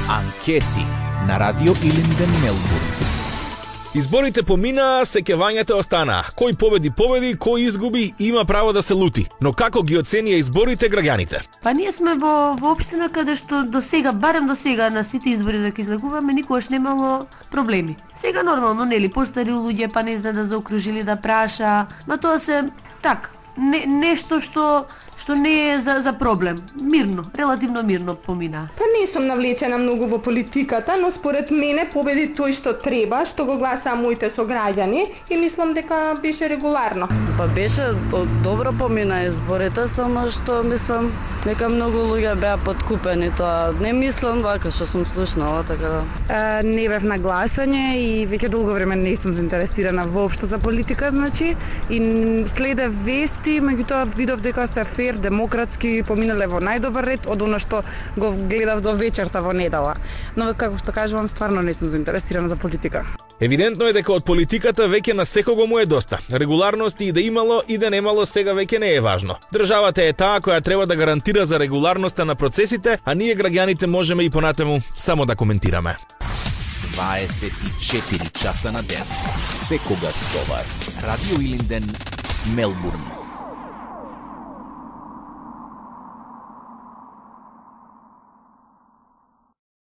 Анкети на Радио Илинден, Мелбурн. Изборите поминаа, сеќавањата останаа. Кој победи, кој изгуби, има право да се лути. Но како ги оценија изборите граѓаните? Па ние сме во општина каде што до сега, барем до сега на сите избори да ги излегуваме, никогаш немало проблеми. Сега нормално, нели, постари луѓе па не знае да заокружили да праша, ма тоа се так, нешто што не е за проблем. Мирно, релативно мирно помина. Па не сум навлечена многу во политиката, но според мене победи тој што треба, што го гласаа моите сограѓани и мислам дека беше регуларно. Па беше добро помина изборите, само што мислам дека многу луѓе беа подкупени, тоа не мислам вака што сум слушнала, така да. Не бев на гласање и веќе долго време не сум заинтересирана воопшто за политика, значи, и следев вести, меѓутоа видов дека се фер, демократски, поминале во најдобар ред од она што го гледав до вечерта во недела. Но како што кажувам, стварно не сум заинтересирана за политика. Евидентно е дека од политиката веќе на секого му е доста. Регуларности и да имало и да немало сега веќе не е важно. Државата е таа која треба да гарантира за регуларноста на процесите, а ние граѓаните можеме и понатаму само да коментираме. 24 часа на ден. Секогаш со вас. Радио Илинден, Мелбурн.